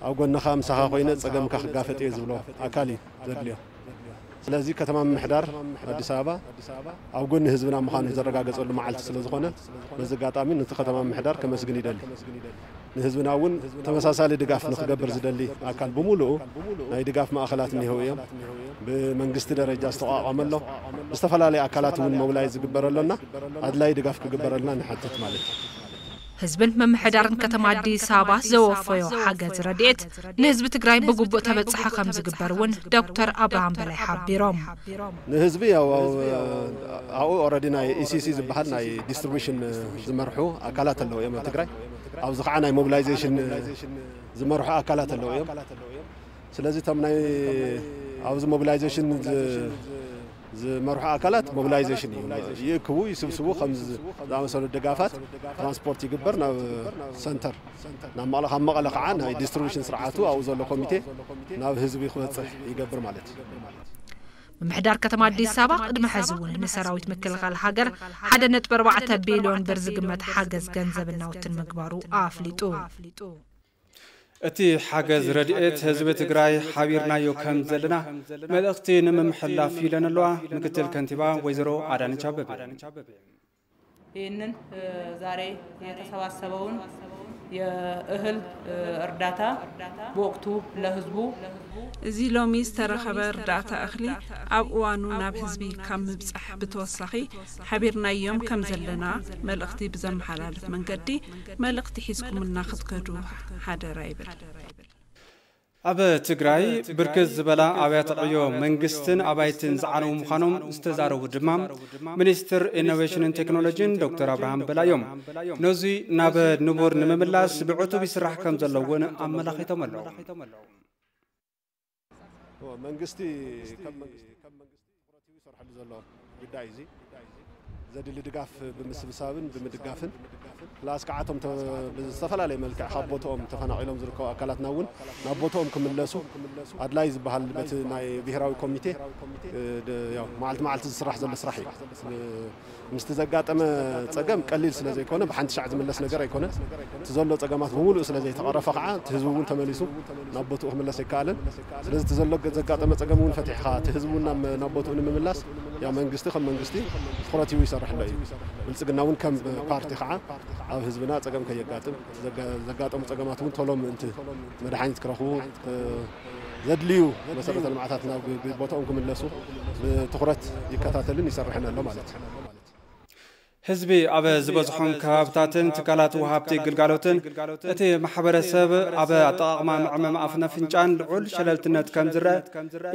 ኣብ ጎንኻ ምሳኻ ኮይነ ጸገምካ ክጋፈጥ እየ ዝብሎ ኣካል እዩ ዘድልዮ። ስለዚ ከተማ ምምሕዳር ኣዲስ ኣበባ ኣብ ጎኒ ህዝብና ምዃኑ ዘረጋገጸሉ መዓልቲ ስለ ዝኾነ፣ በዚ ኣጋጣሚ ነቲ ከተማ ምምሕዳር ከመስግን ይደሊ። ንህዝብና እውን ተመሳሳሊ ድጋፍ ንክገብር ዝደሊ ኣካል ብምሉኡ ናይ ድጋፍ ማእኸላት እኒሀው እዮም። ብመንግስቲ ደረጃ ዝተቋቋመ ኣሎ። ብዝተፈላለዩ ኣካላት እውን ሞብላይዝ ዝግበረሎና ኣድላይ ድጋፍ ክግበረልና ንሓትት ማለት እዩ። ህዝብን ምምሕዳርን ከተማ ኣዲስ ኣበባ ዘወፈዮ ሓገዝ ረድኤት ንህዝቢ ትግራይ ብግቡእ ተበፃሒ ከም ዝግበር እውን ዶክተር ኣብርሃም በላይ ሓቢሮም። ንህዝቢ ያው ኣብኡ ኦረዲ ናይ ኢሲሲ ዝበሃል ናይ ዲስትሪቢሽን ዝመርሑ ኣካላት ኣለዉ እዮም ኣብ ትግራይ። ኣብዚ ከዓ ናይ ሞቢላይዜሽን ዝመርሑ ኣካላት ኣለዉ እዮም። ስለዚ እቶም ናይ ኣብዚ ሞቢላይዜሽን ዝመርሑ ኣካላት ሞቢላይዜሽን እዩ። ይእክቡ፣ ይስብስቡ፣ ከም ዝኣመሰሉ ድጋፋት ትራንስፖርት ይግበር ናብ ሰንተር፣ ናብ መቐለ፣ ካብ መቐለ ከዓ ናይ ዲስትሪቢሽን ስርዓቱ ኣብኡ ዘሎ ኮሚቴ ናብ ህዝቢ ክበፅሕ ይገብር ማለት እዩ። ምምሕዳር ከተማ ኣዲስ ኣበባ ቅድሚ ሕዚ እውን ንሰራዊት ምክልኻል ሃገር ሓደ ነጥቢ ኣርባዕተ ቢልዮን ብር ዝግመት ሓገዝ ገንዘብን ናውትን ምግባሩ ኣፍሊጡ። እቲ ሓገዝ ረድኤት ህዝቢ ትግራይ ሓቢርናዮ ከም ዘለና መልእኽቲ ንምምሕላፍ ኢለን ኣለዋ ምክትል ከንቲባ ወይዘሮ ኣዳነች ኣበበ። ይህንን ዛሬ የተሰባሰበውን የእህል እርዳታ በወቅቱ ለህዝቡ እዚ ሎሚ ዝተረኸበ እርዳታ እኽሊ ኣብ እዋኑ ናብ ህዝቢ ካብ ምብፃሕ ብተወሳኺ ሓቢርናዮም ከም ዘለና መልእኽቲ ብዘመሓላልፍ መንገዲ መልእኽቲ ሒዝኩምልና ክትከዱ ሓደራ ይብል። ኣብ ትግራይ ብርክት ዝበላ ኣብያተ ዕዮ መንግስትን ኣባይትን ዝዓነዉ ምዃኖም ዝተዛረቡ ድማ ሚኒስትር ኢኖቬሽንን ቴክኖሎጂን ዶክተር ኣብርሃም በላይ እዮም። ነዙይ ናብ ንቡር ንምምላስ ብዕቱብ ይስራሕ ከም ዘሎ እውን ኣመላኺቶም ኣለዉ። መንግስቲ ከም መንግስቲ ትኹረት ሂቡ ይሰርሐሉ ዘሎ ጉዳይ እዚ ዘድሊ ድጋፍ ብምስብሳብን ብምድጋፍን ፕላስ ከዓ እቶም ተ- ብዝተፈላለየ መልክዕ ካብ ቦትኦም ተፈናቒሎም ዝርከቡ ኣካላትና እውን ናብ ቦትኦም ክምለሱ ኣድላይ ዝበሃል በቲ ናይ ብሄራዊ ኮሚቴ እ፣ ድ- ያው መዓልቲ መዓልቲ ዝስራሕ ዘሎ ስራሕ እዩ። ምስቲ ዘጋጠመ ፀገም ቀሊል ስለ ዘይኮነ ብሓንቲ ሻዕ ዝምለስ ነገር ኣይኮነን። እቲ ዘሎ ፀገማት ብምሉእ ስለ ዘይተቐረፈ ከዓ እቲ ህዝቢ እውን ተመሊሱ ናብ ቦትኡ ክምለስ ኣይከኣለን። ስለዚ እቲ ዘሎ ዘጋጠመ ፀገም እውን ፈቲሕኻ እቲ ህዝቢ እውን ናብ ናብ ቦትኡ ንምምላስ ያው መንግስቲ ከም መንግስቲ ትኹረት ሂቡ ይሰርሕ ኣሎ እዩ። ብልፅግና እውን ከም ፓርቲ ከዓ ኣብ ህዝብና ፀገም ከየጋጥም ዘጋ- ዘጋጠሙ ፀገማት እውን ቶሎ ምእንቲ መድሓኒት ክረኽቡ እ፣ ዘድልዩ መሰረተ ልምዓታት ናብ ቦታኦም ክምለሱ ብትኹረት ይከታተልን ይሰርሕን ኣሎ ማለት እዩ። ህዝቢ ኣብ ዝበዝሖም ከባብታትን ትካላት ወሃብቲ ግልጋሎትን እቲ ማሕበረሰብ ኣብ ኣጠቓቕማ መዕመም ኣፍን ኣፍንጫን ልዑል ሸለልትነት ከም ዝረአ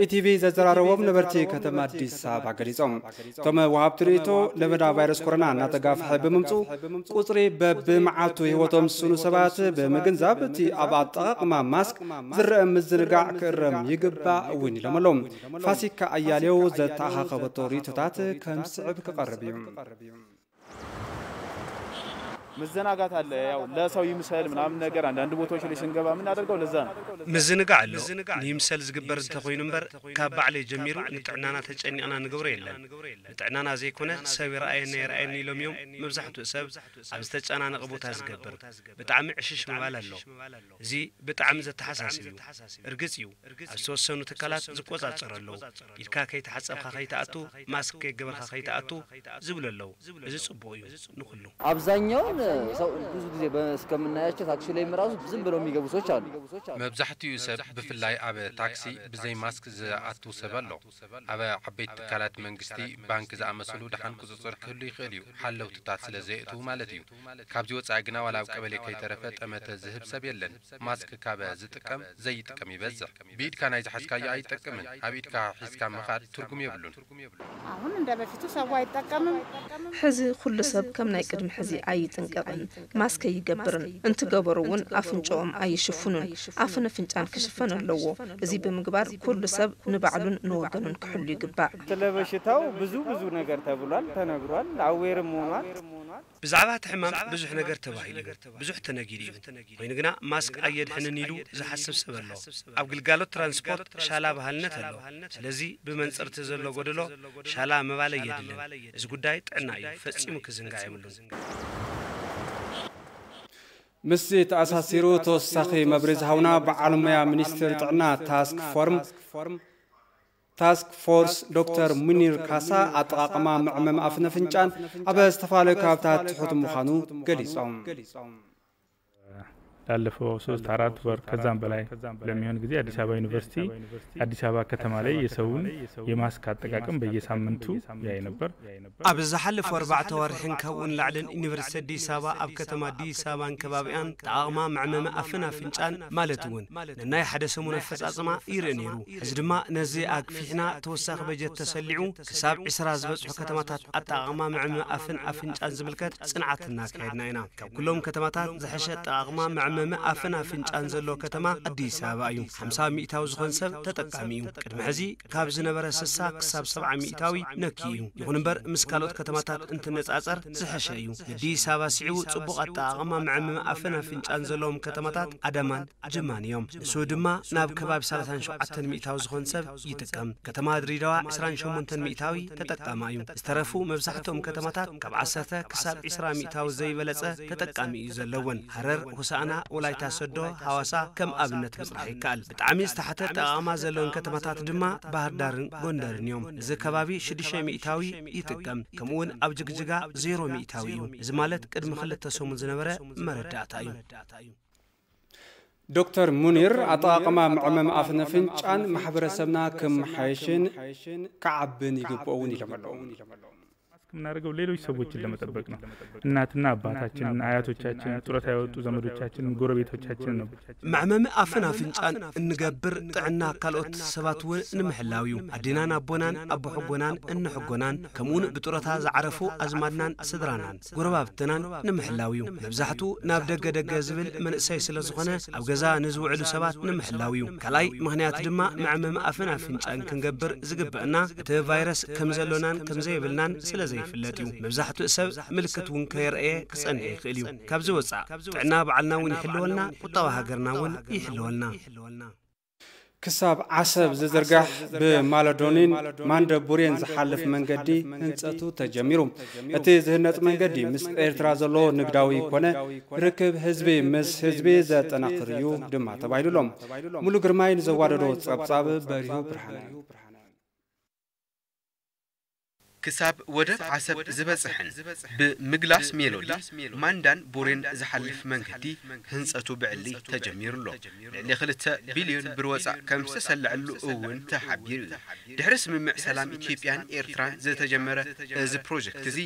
ኢቲቪ ዘዘራረቦም ነበርቲ ከተማ ኣዲስ ኣበባ ገሊጾም። እቶም ወሃብቲ ርእይቶ ለበዳ ቫይረስ ኮሮና እናተጋፍሐ ብምምፅኡ ቁፅሪ በብመዓልቱ ህይወቶም ዝስእኑ ሰባት ብምግንዛብ እቲ ኣብ ኣጠቓቕማ ማስክ ዝረአ ምዝንጋዕ ክእረም ይግባእ እውን ኢሎም ኣለዉ። ፋሲካ ኣያሌው ዘተኣኻኸበቶ ርእይቶታት ከም ዝስዕብ ክቐርብ እዩ። መዘናጋት አለ። ያው ለሰው ይምሰል ምናምን ነገር አንዳንድ ቦታዎች ላይ ስንገባ የምናደርገው ለዛ ነው። ምዝንጋዕ ኣሎ። ንይምሰል ዝግበር እንተኾይኑ እምበር ካብ ባዕለይ ጀሚሩ ንጥዕናና ተጨኒቕና ንገብሮ የለን። ንጥዕናና ዘይኮነ ሰብ ይረኣየኒ ኣይረኣየኒ ኢሎም እዮም መብዛሕትኡ ሰብ ኣብ ዝተጨናነቐ ቦታ ዝገብር። ብጣዕሚ ዕሽሽ ምባል ኣሎ። እዚ ብጣዕሚ ዘተሓሳስብ እዩ። እርግፅ እዩ ኣብ ዝተወሰኑ ትካላት ዝቆፃፀሩ ኣለዉ። ኢድካ ከይተሓፀብካ ከይትኣቱ፣ ማስክ ከይገበርካ ከይትኣቱ ዝብሉ ኣለዉ። እዚ ፅቡቕ እዩ ንኹሉ። አብዛኛውን ሰው ብዙ ጊዜ በ- እስከምናያቸው ታክሲ ላይም ራሱ ዝም ብለው የሚገቡ ሰዎች አሉ። መብዛሕትኡ ሰብ ብፍላይ ኣብ ታክሲ ብዘይ ማስክ ዝኣቱ ሰብ ኣሎ። ኣብ ዓበይቲ ትካላት መንግስቲ፣ ባንክ ዝኣመሰሉ ደሓን ቁፅፅር ክህሉ ይኽእል እዩ፣ ሓለውትታት ስለ ዘየእትዉ ማለት እዩ። ካብዚ ወፃኢ ግና ዋላ ኣብ ቀበሌ ከይተረፈ ጠመተ ዝህብ ሰብ የለን። ማስክ ካብ ዝጥቀም ዘይጥቀም ይበዝሕ። ብኢድካ ናይ ዝሓዝካዮ ኣይጠቅምን፣ ኣብ ኢድካ ሒዝካ ምኻድ ትርጉም የብሉን። አሁን እንደ በፊቱ ሰው አይጠቀምም። ሕዚ ኩሉ ሰብ ከም ናይ ቅድሚ ሕዚ ኣይጥንቀቕን፣ ማስክ ኣይገብርን፣ እንትገበሩ እውን ኣፍንጭኦም ኣይሽፍኑን፣ ኣፍን ኣፍንጫን ክሽፈን ኣለዎ። እዚ ብምግባር ኩሉ ሰብ ንባዕሉን ንወገኑን ክሕሉ ይግባእ። ስለ በሽታው ብዙ ብዙ ነገር ተብሏል፣ ተነግሯል፣ አዌርም ሆኗል። ብዛዕባ እቲ ሕማም ብዙሕ ነገር ተባሂሉ እዩ፣ ብዙሕ ተነጊሩ እዩ። ኮይኑ ግና ማስክ ኣየድሕንን ኢሉ ዝሓስብ ሰብ ኣሎ። ኣብ ግልጋሎት ትራንስፖርት ሻላ ባህልነት ኣሎ። ስለዚ ብመንፅር እቲ ዘሎ ጎደሎ ሻላ ምባል ኣየድልን። እዚ ጉዳይ ጥዕና እዩ፣ ፈፂሙ ክዝንጋዕ የብሉን። ምስዚ ተኣሳሲሩ ተወሳኺ መብርሂ ዝሃቡና በዓል ሞያ ሚኒስቴር ጥዕና ታስክ ፎርም፣ ታስክ ፎርስ ዶክተር ሙኒር ካሳ ኣጠቓቕማ መዕመሚ ኣፍን ኣፍንጫን ኣብ ዝተፈላለዩ ከባብታት ትሑት ምዃኑ ገሊጾም። ላለፈው ሶስት አራት ወር ከዛም በላይ ለሚሆን ጊዜ አዲስ አበባ ዩኒቨርሲቲ አዲስ አበባ ከተማ ላይ የሰውን የማስክ አጠቃቀም በየሳምንቱ ያይ ነበር። ኣብ ዝሓለፉ ኣርባዕተ ወርሕን ካብኡ ንላዕልን ዩኒቨርሲቲ ኣዲስ ኣበባ ኣብ ከተማ ኣዲስ ኣበባን ከባቢኣን ኣጠቓቕማ መዕመሚ ኣፍን ኣፍንጫን ማለት እውን ነናይ ሓደ ሰሙን ኣፈፃፅማ ይርእ ነይሩ። ሕዚ ድማ ነዚ ኣግፊሕና ተወሳኺ በጀት ተሰሊዑ ክሳብ ዕስራ ዝበፅሑ ከተማታት ኣጠቓቕማ መዕመሚ ኣፍን ኣፍንጫን ዝምልከት ፅንዓት እናካየድና ኢና። ካብ ኩሎም ከተማታት ዝሐሸ ኣጠቓቕማ መዕመሚ ኣፍን ኣፍንጫን ዘለዎ ከተማ ኣዲስ ኣበባ እዩ። ሓምሳ ሚእታዊ ዝኾን ሰብ ተጠቃሚ እዩ። ቅድሚ ሕዚ ካብ ዝነበረ ስሳ ክሳብ ሰብዓ ሚእታዊ ነኪ እዩ። ይኹን እምበር ምስ ካልኦት ከተማታት እንትነፃፀር ዝሐሸ እዩ። ንኣዲስ ኣበባ ስዒቡ ፅቡቕ ኣጠቓቕማ መዕመሚ ኣፍን ኣፍንጫን ዘለዎም ከተማታት ኣዳማን ጅማን እዮም። ንሱ ድማ ናብ ከባቢ ሰላሳን ሸውዓተን ሚእታዊ ዝኾን ሰብ ይጥቀም። ከተማ ድሬዳዋ ዕስራን ሸሞንተን ሚእታዊ ተጠቃማ እዩ። ዝተረፉ መብዛሕትኦም ከተማታት ካብ ዓሰርተ ክሳብ ዕስራ ሚእታዊ ዘይበለጸ ተጠቃሚ እዩ ዘለወን። ሃረር፣ ሆሳዕና፣ ወላይታ ሰዶ፣ ሃዋሳ ከም ኣብነት ምጽራሕ ይከኣል። ብጣዕሚ ዝተሓተ ኣጠቓቕማ ዘለወን ከተማታት ድማ ባህር ዳርን ጎንደርን እዮም። እዚ ከባቢ ሽዱሽተ ሚእታዊ ይጥቀም። ከምኡውን ኣብ ጅግጅጋ ዜሮ ሚእታዊ እዩ። እዚ ማለት ቅድሚ ክልተ ሰሙን ዝነበረ መረዳእታ እዩ። ዶክተር ሙኒር ኣጠቓቕማ መዕመሚ ኣፍን ኣፍንጫን ማሕበረሰብና ክመሓየሽን ክዓብን ይግብኦ እውን ኢሎም ኣለዉ። ማስክ የምናደርገው ሌሎች ሰዎችን ለመጠበቅ ነው። እናትና አባታችንን፣ አያቶቻችንን፣ ጡረታ የወጡ ዘመዶቻችንን፣ ጎረቤቶቻችንን ነው። መዕመሚ ኣፍን ኣፍንጫን እንገብር ጥዕና ካልኦት ሰባት እውን ንምሕላው እዩ። ኣዴናን ኣቦናን ኣቦሐጎናን እነሐጎናን ከምኡውን ብጡረታ ዝዓረፉ ኣዝማድናን ስድራናን ጎረባብትናን ንምሕላው እዩ። መብዛሕትኡ ናብ ደገ ደገ ዝብል መንእሰይ ስለ ዝኾነ ኣብ ገዛ ንዝውዕሉ ሰባት ንምሕላው እዩ። ካልኣይ ምኽንያት ድማ መዕመሚ ኣፍን ኣፍንጫን ክንገብር ዝግበአና እቲ ቫይረስ ከም ዘሎናን ከም ዘይብልናን ስለ ዘይፍለጥ እዩ። መብዛሕትኡ ሰብ ምልክት እውን ከየርአየ ክጸንሕ ይኽእል እዩ። ካብዚ ወጻእ ጥዕና ባዕልና እውን ይሕልወልና፣ ቁጠባ ሃገርና እውን ይሕልወልና። ክሳብ ዓሰብ ዝዝርጋሕ ብማለዶኒን ማንደቡሬን ዝሓልፍ መንገዲ ህንፀቱ ተጀሚሩ። እቲ ዝህነፅ መንገዲ ምስ ኤርትራ ዘሎ ንግዳዊ ኮነ ርክብ ህዝቢ ምስ ህዝቢ ዘጠናኽር እዩ ድማ ተባሂሉሎም። ሙሉ ግርማይ ንዘዋደዶ ጸብጻብ በሪሁ ብርሃነ። ክሳብ ወደብ ዓሰብ ዝበጽሕን ብምግላስ ሜሎዲ ማንዳን ቡሬን ዝሓልፍ መንገዲ ህንጸቱ ብዕሊ ተጀሚሩ ኣሎ። ልዕሊ ክልተ ቢልዮን ብር ወጻእ ከም ዝተሰለዐሉ እውን ተሓቢሩ እዩ። ድሕሪ ስምምዕ ሰላም ኢትዮጵያን ኤርትራን ዝተጀመረ እዚ ፕሮጀክት እዚ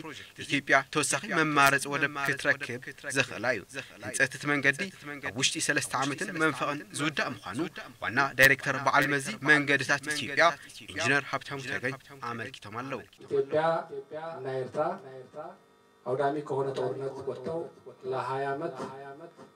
ኢትዮጵያ ተወሳኺ መማረፂ ወደብ ክትረክብ ዘኽእላ እዩ። ህንፀት እቲ መንገዲ ኣብ ውሽጢ ሰለስተ ዓመትን መንፈቕን ዝውዳእ ምዃኑ ዋና ዳይሬክተር በዓል መዚ መንገድታት ኢትዮጵያ ኢንጂነር ሃብታሙ ተገኝ ኣመልኪቶም ኣለዉ። ኢትዮጵያ እና ኤርትራ አውዳሚ ከሆነ ጦርነት ወጥተው ለሀያ ዓመት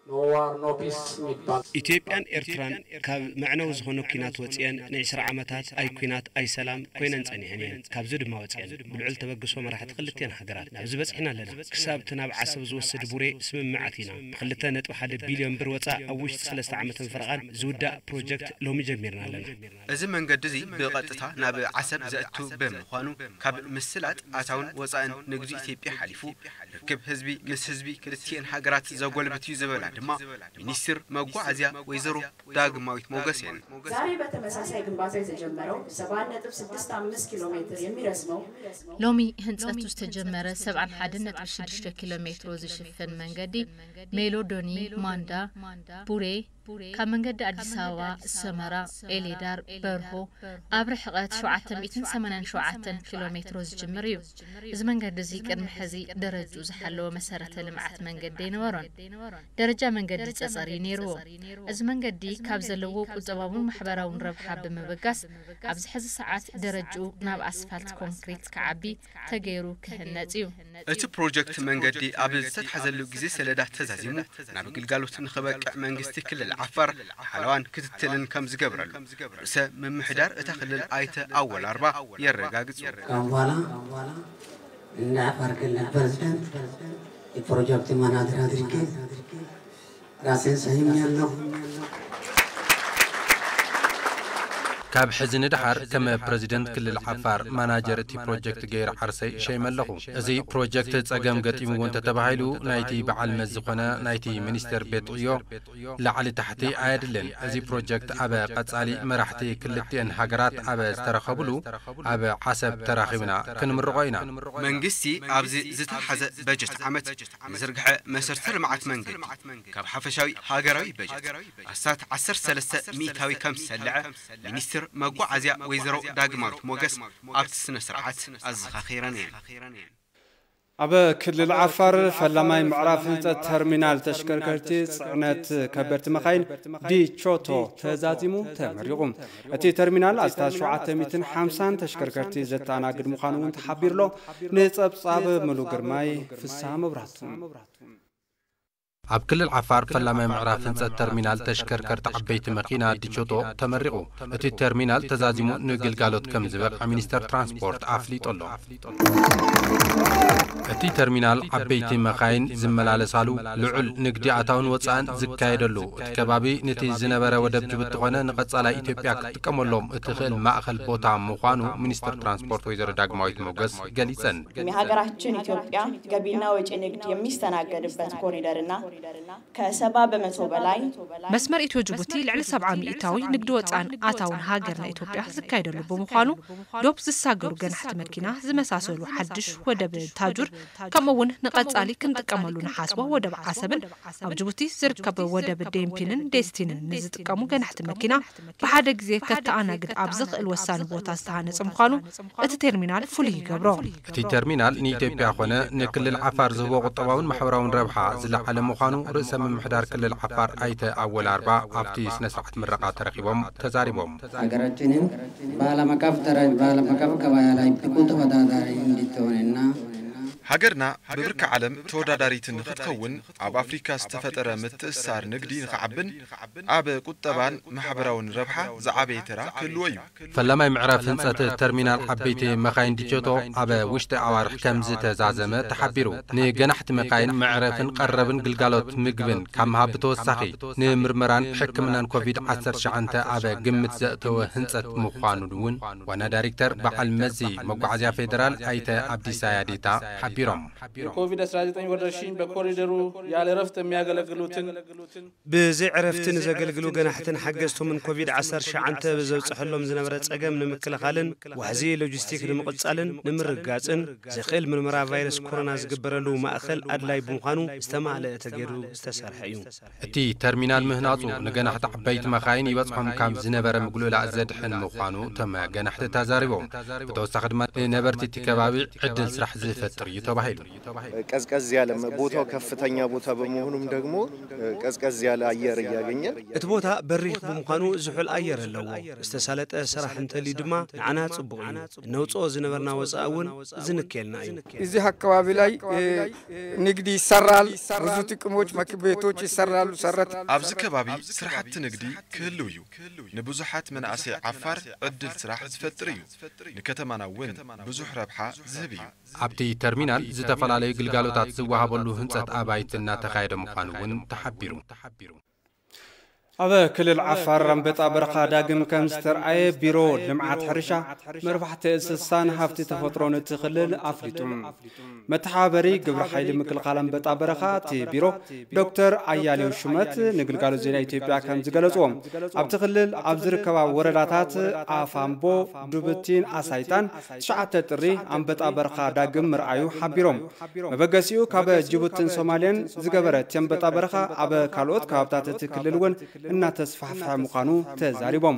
no war no peace የሚባል ኢትዮጵያን ኤርትራን ካብ መዕነዊ ዝኾነ ኲናት ወፂአን ንዕስራ ዓመታት ኣይ ኲናት ኣይ ሰላም ኮይነን ጸኒሐን እየን። ካብዚ ድማ ወፂአን ብልዑል ተበግሶ መራሕቲ ክልቲአን ሃገራት ናብዚ በፂሕና ኣለና። ክሳብ እቲ ናብ ዓሰብ ዝወስድ ቡሬ ስምምዕ ኣቲና ብክልተ ነጥቢ ሓደ ቢልዮን ብር ወፃእ ኣብ ውሽጢ ሰለስተ ዓመትን ፈረቓን ዝውዳእ ፕሮጀክት ሎሚ ጀሚርና ኣለና። እዚ መንገዲ እዚ ብቐጥታ ናብ ዓሰብ ዘእቱ ብምዃኑ ካብ ምስላጥ ኣታውን ወፃእን ንግዱ ኢትዮጵያ ሓሊፉ ርክብ ህዝቢ ምስ ህዝቢ ክልቲኤን ሃገራት ዘጎልብት እዩ ዝበላ ድማ ሚኒስትር መጓዓዝያ ወይዘሮ ዳግማዊት ሞገስ እየን። ዛሬ በተመሳሳይ ግንባታ የተጀመረው ሰባ አንድ ነጥብ ስድስት አምስት ኪሎ ሜትር የሚረዝመው ሎሚ ህንፀቱ ዝተጀመረ ሰብዓን ሓደን ነጥቢ ሽዱሽተ ኪሎ ሜትሮ ዝሽፍን መንገዲ ሜሎዶኒ ማንዳ ቡሬ ካብ መንገዲ ኣዲስ ኣበባ ሰመራ ኤሌዳር በርሆ ኣብ ርሕቐት ሸውዓተ ሚእትን ሰማንያን ሸውዓተን ኪሎ ሜትሮ ዝጅምር እዩ። እዚ መንገዲ እዚ ቅድሚ ሕዚ ደረጅኡ ዝሓለወ መሰረተ ልምዓት መንገዲ ኣይነበሮን። ደረጃ መንገዲ ጸጸር እዩ ነይርዎ። እዚ መንገዲ ካብ ዘለዎ ቁጠባውን ማሕበራውን ረብሓ ብምብጋስ ኣብዚ ሕዚ ሰዓት ደረጅኡ ናብ ኣስፋልት ኮንክሪት ክዓቢ ተገይሩ ክህነጽ እዩ። እቲ ፕሮጀክት መንገዲ ኣብ ዝተትሓዘሉ ግዜ ሰሌዳ ተዛዚሙ ናብ ግልጋሎት ንኽበቅዕ መንግስቲ ክልል ዓፋር ሓለዋን ክትትልን ከም ዝገብረሉ ርእሰ ምምሕዳር እታ ክልል ኣይተ ኣወል ኣርባ የረጋግጹ። ካሁን በኋላ እንደ አፋር ክልል ፕሬዝዳንት የፕሮጀክት ማናጀር አድርጌ ራሴን ሰይሜያለሁ። ካብ ሕዚ ንደሓር ከም ፕረዚደንት ክልል ዓፋር ማናጀር እቲ ፕሮጀክት ገይረ ዓርሰይ ሸይመ ኣለኹ። እዚ ፕሮጀክት ጸገም ገጢምዎ እንተተባሂሉ ናይቲ በዓል መዚ ዝኾነ ናይቲ ሚኒስቴር ቤት ዕዮ ላዕሊ ታሕቲ ኣየድልን። እዚ ፕሮጀክት ኣብ ቀጻሊ መራሕቲ ክልቲኤን ሃገራት ኣብ ዝተረኸብሉ ኣብ ዓሰብ ተራኺብና ክንምርቖ ኢና። መንግስቲ ኣብዚ ዝተሓዘ በጀት ዓመት ንዝርግሐ መሰርተ ልምዓት መንገዲ ካብ ሓፈሻዊ ሃገራዊ በጀት ኣስታት ዓሰርተ ሰለስተ ሚእታዊ ከም ዝሰልዐ ሚኒስትር መጓዓዝያ ወይዘሮ ዳግማዊት ሞገስ ኣብቲ ስነ ስርዓት ኣዘኻኺረን እየን። ኣብ ክልል ዓፋር ፈላማይ ምዕራፍ ህንፀት ተርሚናል ተሽከርከርቲ ፅዕነት ከበድቲ መኻይን ዲቾቶ ተዛዚሙ ተመሪቑ። እቲ ተርሚናል ኣስታት ሸውዓተ ሚእትን ሓምሳን ተሽከርከርቲ ዘተኣናግድ ምዃኑ እውን ተሓቢሩሎ። ንፀብፃብ ምሉ ግርማይ ፍስሃ መብራቱ። ኣብ ክልል ዓፋር ፈላማይ ምዕራፍ ህንፀት ተርሚናል ተሽከርከርቲ ዓበይቲ መኪና ዲቾቶ ተመሪቑ። እቲ ተርሚናል ተዛዚሙ ንግልጋሎት ከም ዝበቕዐ ሚኒስተር ትራንስፖርት ኣፍሊጡ ኣሎ። እቲ ተርሚናል ዓበይቲ መኻይን ዝመላለሳሉ፣ ልዑል ንግዲ ኣታውን ወፃእን ዝካየደሉ፣ እቲ ከባቢ ነቲ ዝነበረ ወደብ ጅቡቲ ኮነ ንቐፃላይ ኢትዮጵያ ክትጥቀመሎም እትኽእል ማእኸል ቦታ ምዃኑ ሚኒስተር ትራንስፖርት ወይዘሮ ዳግማዊት ሞገስ ገሊፀን። የሀገራችን ኢትዮጵያ ገቢና ወጪ ንግድ የሚስተናገድበት ኮሪደርና ከሰባ በመቶ በላይ መስመር ኢትዮ ጅቡቲ ልዕሊ ሰብዓ ሚእታዊ ንግዲ ወፃእን ኣታውን ሃገርና ኢትዮጵያ ዝካየደሉ ብምዃኑ፣ ዶብ ዝሳገሩ ገናሕቲ መኪና ዝመሳሰሉ ሓድሽ ወደብ ታጁር፣ ከምኡ እውን ንቐፃሊ ክንጥቀመሉ ንሓስቦ ወደብ ዓሰብን ኣብ ጅቡቲ ዝርከብ ወደብ ዴምፒንን ዴስቲንን ንዝጥቀሙ ገናሕቲ መኪና ብሓደ ግዜ ከተኣናግድ ኣብ ዝኽእል ወሳኒ ቦታ ዝተሃነፀ ምዃኑ እቲ ተርሚናል ፍሉይ ይገብሮ። እቲ ተርሚናል ንኢትዮጵያ ኮነ ንክልል ዓፋር ዝህቦ ቁጠባውን ማሕበራውን ረብሓ ዝለዓለ ምዃኑ ርእሰ ምምሕዳር ክልል ዓፋር ኣይተ ኣወል ኣርባ ኣብቲ ስነ ስርዓት ምረቓ ተረኺቦም ተዛሪቦም። ሀገራችንን በዓለም አቀፍ ደረ-፣ በዓለም አቀፍ ገበያ ላይ ብቁ ተወዳዳሪ እንድትሆንና ሃገርና ብብርኪ ዓለም ተወዳዳሪት ንኽትኸውን ኣብ ኣፍሪካ ዝተፈጠረ ምትእስሳር ንግዲ ንኽዓብን ኣብ ቁጠባን ማሕበራውን ረብሓ ዝዓበየ ተራ ክህልዎ እዩ። ፈላማይ ምዕራፍ ህንፀት ተርሚናል ዓበይቲ መኻይን ዲቸቶ ኣብ ውሽጢ ኣዋርሕ ከም ዝተዛዘመ ተሓቢሩ። ንገናሕቲ መኻይን መዕረፍን ቀረብን ግልጋሎት ምግብን ካብ ምሃብ ብተወሳኺ፣ ንምርመራን ሕክምናን ኮቪድ ዓሰርተ ትሽዓተ ኣብ ግምት ዘእተወ ህንፀት ምዃኑ እውን ዋና ዳይሬክተር በዓል መዚ መጓዓዝያ ፌዴራል ኣይተ ኣብዲሳ ያዴታ ሓቢሮም። የኮቪድ አስራ ዘጠኝ ወረርሽኝ በኮሪደሩ ያለ እረፍት የሚያገለግሉትን ብዘይ ዕረፍቲ ንዘገልግሉ ገናሕትን ሓገዝቶምን ኮቪድ ዓሰርተ ትሽዓተ ብዘብፅሐሎም ዝነበረ ፀገም ንምክልኻልን ዋሕዚ ሎጂስቲክ ንምቕፃልን ንምርግጋፅን ዘኽእል ምርመራ ቫይረስ ኮሮና ዝግበረሉ ማእኸል ኣድላይ ብምዃኑ ዝተማልአ ተገይሩ ዝተሰርሐ እዩ። እቲ ተርሚናል ምህናፁ ንገናሕቲ ዓበይቲ መኻይን ይበፅሖም ካብ ዝነበረ ምግሉላእ ዘድሕን ምዃኑ እቶም ገናሕቲ ተዛሪቦም። ብተወሳኺ ድማ ንነበርቲ እቲ ከባቢ ዕድል ስራሕ ዝፈጥር እዩ ተባሂሉ። ቀዝቀዝ ያለ መ-፣ ቦታው ከፍተኛ ቦታ በመሆኑም ደግሞ ቀዝቀዝ ያለ አየር እያገኘ እቲ ቦታ በሪኽ ብምዃኑ ዝሑል ኣየር ኣለዎ። ዝተሳለጠ ስራሕ እንተልዩ ድማ ንዓና ጽቡቕ እዩ። እነውጽኦ ዝነበርና ወጻኢ እውን ዝንክየልና እዩ። እዚህ አካባቢ ላይ፣ እ፣ ንግድ ይሰራል። ብዙ ጥቅሞች፣ መክ-፣ ቤቶች ይሰራሉ። ሰረት ኣብዚ ከባቢ ስራሕቲ ንግዲ ክህልው እዩ። ንብዙሓት መናእሰይ ዓፋር ዕድል ስራሕ ዝፈጥር እዩ። ንከተማና እውን ብዙሕ ረብሓ ዝህብ እዩ። ኣብቲ ተርሚናል ዝተፈላለዩ ግልጋሎታት ዝወሃበሉ ህንፀት ኣባይቲ እናተኻየደ ምዃኑ እውን ተሓቢሩ። ኣብ ክልል ዓፋር ኣንበጣ በረኻ ዳግም ከም ዝተርኣየ ቢሮ ልምዓት ሕርሻ፣ መርባሕቲ እንስሳን ሃፍቲ ተፈጥሮን እቲ ክልል ኣፍሊጡ። መተሓባበሪ ግብረ ሓይሊ ምክልኻል ኣንበጣ በረኻ እቲ ቢሮ ዶክተር ኣያሌው ሹመት ንግልጋሎት ዜና ኢትዮጵያ ከም ዝገለፅዎ፣ ኣብቲ ክልል ኣብ ዝርከባ ወረዳታት ኣፋምቦ፣ ዱብቲን ኣሳይታን ትሽዓተ ጥሪ ኣንበጣ በረኻ ዳግም ምርኣዩ ሓቢሮም። መበገሲኡ ካብ ጅቡትን ሶማልያን ዝገበረ እቲ ኣንበጣ በረኻ ኣብ ካልኦት ከባብታት እቲ ክልል እውን እናተስፋሕፈሐ ምዃኑ ተዛሪቦም።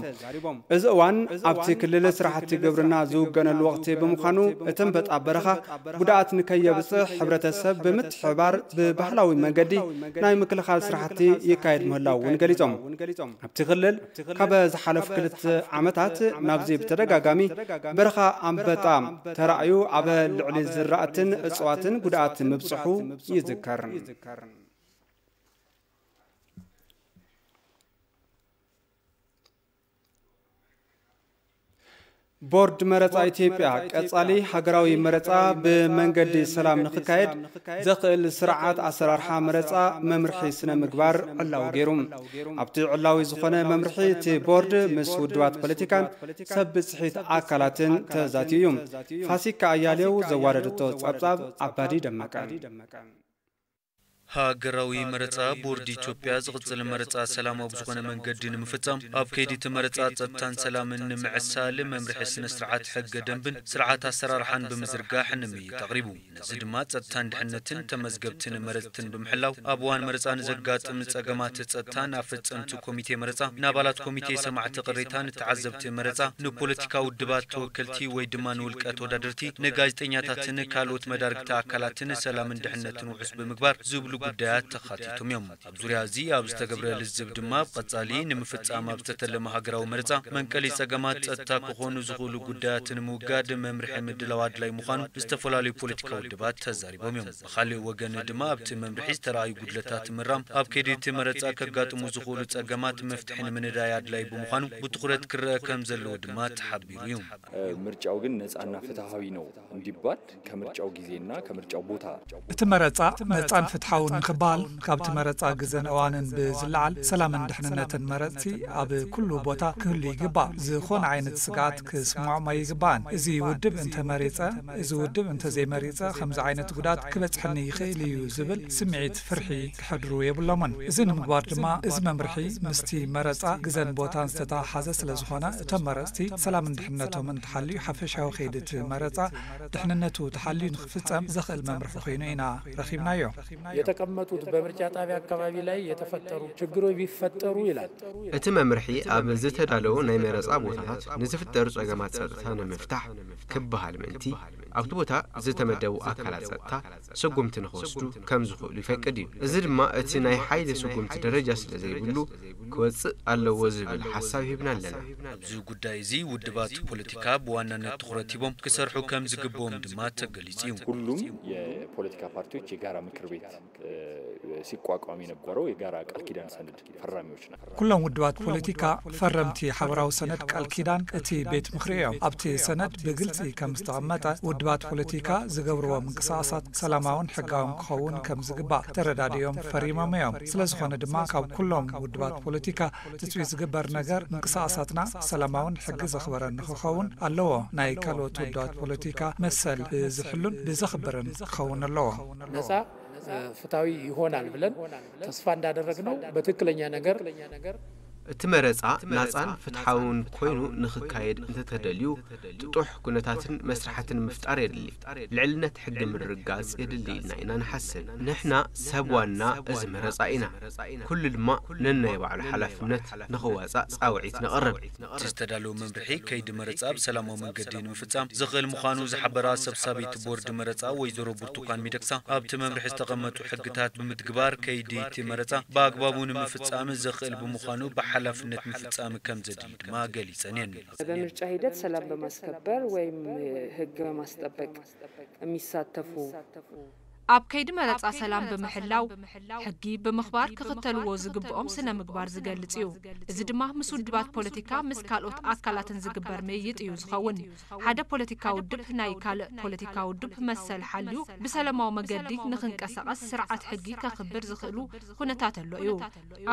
እዚ እዋን ኣብቲ ክልል ስራሕቲ ግብርና ዝውገነሉ ወቕቲ ብምዃኑ እቲ ኣንበጣ በረኻ ጉድኣት ንከየብፅሕ ሕብረተሰብ ብምትሕባር ብባህላዊ መንገዲ ናይ ምክልኻል ስራሕቲ ይካየድ ምህላው እውን ገሊጾም። ኣብቲ ክልል ካብ ዝሓለፉ ክልተ ዓመታት ናብዚ ብተደጋጋሚ በረኻ ኣንበጣ ተራእዩ ኣብ ልዕሊ ዝራእትን እፅዋትን ጉድኣት ምብፅሑ ይዝከር። ቦርድ መረጻ ኢትዮጵያ ቀጻሊ ሃገራዊ መረጻ ብመንገዲ ሰላም ንኽካየድ ዘኽእል ስርዓት ኣሰራርሓ መረጻ መምርሒ ስነ ምግባር ዕላዊ ገይሩ። ኣብቲ ዕላዊ ዝኾነ መምርሒ እቲ ቦርድ ምስ ውድባት ፖለቲካን ሰብ ብጽሒት ኣካላትን ተዛትዩ እዩ። ፋሲካ ኣያሌው ዘዋደደቶ ጸብጻብ ኣባዲ ደመቀ። ሃገራዊ መረጻ ቦርድ ኢትዮጵያ ዝቕጽል መረጻ ሰላማዊ ብዝኾነ መንገዲ ንምፍጻም ኣብ ከይዲ እቲ መረጻ ጸጥታን ሰላምን ንምዕሳል መምርሒ ስነ ስርዓት ሕገ ደንብን ስርዓት ኣሰራርሓን ብምዝርጋሕ ንምይይጥ ኣቕሪቡ። ነዚ ድማ ጸጥታን ድሕነትን ተመዝገብትን መረጽትን ብምሕላው ኣብ እዋን መረጻ ንዘጋጥም ጸገማት ጸጥታ ናብ ፈጸምቲ ኮሚቴ መረጻ፣ ንኣባላት ኮሚቴ ሰማዕቲ ቅሬታ፣ ንተዓዘብቲ መረጻ፣ ንፖለቲካ ውድባት ተወከልቲ ወይ ድማ ንውልቀ ተወዳደርቲ፣ ንጋዜጠኛታትን ካልኦት መዳርግቲ ኣካላትን ሰላምን ድሕነትን ውሑስ ብምግባር ዝብሉ ጉዳያት ተኻቲቶም እዮም። ኣብ ዙርያ እዚ ኣብ ዝተገብረ ልዝብ ድማ ኣብ ቀጻሊ ንምፍጻም ኣብ ዝተተለመ ሃገራዊ መረጻ መንቀሊ ጸገማት ጸጥታ ክኾኑ ዝኽእሉ ጉዳያት ንምውጋድ መምርሒ ምድላው ኣድላይ ምዃኑ ዝተፈላለዩ ፖለቲካዊ ውድባት ተዛሪቦም እዮም። ብኻልእ ወገን ድማ ኣብቲ መምርሒ ዝተረኣዩ ጉድለታት ምራም ኣብ ከይዲ እቲ መረጻ ከጋጥሙ ዝኽእሉ ጸገማት መፍትሒ ንምንዳይ ኣድላይ ብምዃኑ ብትኹረት ክረአ ከም ዘለዎ ድማ ተሓቢሩ እዩ። ምርጫው ግን ነፃና ፍትሐዊ ነው እንዲባል ከምርጫው ጊዜና ከምርጫው ቦታ እቲ መረጻ ነጻን ፍትሓውን ንኽበሃል ካብቲ መረጻ ግዘን እዋንን ብዝለዓል ሰላምን ድሕንነትን መረጽቲ ኣብ ኩሉ ቦታ ክህሉ ይግባእ። ዝኾነ ዓይነት ስግኣት ክስምዖም ኣይግባእን። እዚ ውድብ እንተመሪጸ፣ እዚ ውድብ እንተዘይመሪጸ ከምዚ ዓይነት ጉድኣት ክበጽሐኒ ይኽእል እዩ ዝብል ስምዒት ፍርሒ ክሕድሩ የብሎምን። እዚ ንምግባር ድማ እዚ መምርሒ ምስቲ መረጻ ግዘን ቦታን ዝተተሓሓዘ ስለዝኾነ እቶም መረጽቲ ሰላምን ድሕንነቶምን ተሓልዩ ሓፈሻዊ ከይዲ እቲ መረጻ ድሕንነቱ ተሓልዩ ንኽፍጸም ዘኽእል መምርሒ ኮይኑ ኢና ረኺብናዮ። የተቀመጡት በምርጫ ጣቢያ አካባቢ ላይ የተፈጠሩ ችግሮች ቢፈጠሩ ይላል። እቲ መምርሒ ኣብ ዝተዳለዉ ናይ መረጻ ቦታታት ንዝፍጠሩ ጸገማት ጸጥታ ንምፍታሕ ክበሃል ምእንቲ ኣብቲ ቦታ ዝተመደቡ ኣካላት ጸጥታ ስጉምቲ ንኽወስዱ ከም ዝኽእሉ ይፈቅድ እዩ። እዚ ድማ እቲ ናይ ሓይሊ ስጉምቲ ደረጃ ስለ ዘይብሉ ክወጽእ ኣለዎ ዝብል ሓሳብ ሂብና ኣለና። ኣብዚ ጉዳይ እዚ ውድባት ፖለቲካ ብዋናነት ትኹረት ሂቦም ክሰርሑ ከም ዝግብኦም ድማ ተገሊጹ እዩ። ሁሉም የፖለቲካ ፓርቲዎች የጋራ ምክር ቤት ሲቋቋም የነበረው የጋራ ቃል ኪዳን ሰነድ ፈራሚዎች ናቸው። ኩሎም ውድባት ፖለቲካ ፈረምቲ ሓበራዊ ሰነድ ቃል ኪዳን እቲ ቤት ምኽሪ እዮም። ኣብቲ ሰነድ ብግልጺ ከም ዝተቐመጠ ውድባት ፖለቲካ ዝገብርዎ ምንቅስቓሳት ሰላማውን ሕጋውን ክኸውን ከም ዝግባእ ተረዳዲኦም ፈሪሞም እዮም። ስለ ዝኾነ ድማ ካብ ኩሎም ውድባት ፖለቲካ ትጽቢት ዝግበር ነገር ምንቅስቓሳትና ሰላማውን ሕጊ ዘኽበረን ንኽኸውን ኣለዎ። ናይ ካልኦት ውድባት ፖለቲካ መሰል ብዝሕሉን ብዘኽብርን ክኸውን ኣለዎ። ነፃ ፍትሐዊ ይሆናል ብለን ተስፋ እንዳደረግነው በትክክለኛ ነገር እቲ መረጻ ናጻን ፍትሓውን ኮይኑ ንኽካየድ እንተተደልዩ ጥጡሕ ኩነታትን መስርሓትን ምፍጣር የድሊ። ልዕልነት ሕጊ ምርግጋጽ የድሊ ኢልና ኢና ንሓስብ። ንሕና ሰብ ዋና እዚ መረጻ ኢና። ኩሉ ድማ ነናይ ባዕሉ ሓላፍነት ንኽዋጻእ ጻውዒት ነቕርብ። እቲ ዝተዳለወ መምርሒ ከይዲ መረጻ ብሰላማዊ መንገዲ ንምፍጻም ዘኽእል ምዃኑ ዝሓበራ ሰብሳቢት ቦርድ መረጻ ወይዘሮ ብርቱካን ሚደቅሳ ኣብቲ መምርሒ ዝተቐመጡ ሕግታት ብምትግባር ከይዲ እቲ መረጻ ብኣግባቡ ንምፍጻም ዘኽእል ብምዃኑ ብሓላፍነት ምፍጻም ከም ዘድሊ ድማ ገሊጸን እየን። በምርጫ ሂደት ሰላም በማስከበር ወይም ሕግ በማስጠበቅ የሚሳተፉ ኣብ ከይዲ መረጻ ሰላም ብምሕላው፣ ሕጊ ብምኽባር ክኽተልዎ ዝግብኦም ስነ ምግባር ዝገልጽ እዩ። እዚ ድማ ምስ ውድባት ፖለቲካ ምስ ካልኦት ኣካላትን ዝግበር ምይይጥ እዩ ዝኸውን። ሓደ ፖለቲካ ውድብ ናይ ካልእ ፖለቲካ ውድብ መሰል ሓልዩ ብሰለማዊ መገዲ ንኽንቀሳቐስ ስርዓት ሕጊ ከኽብር ዝኽእሉ ኩነታት ኣሎ እዩ።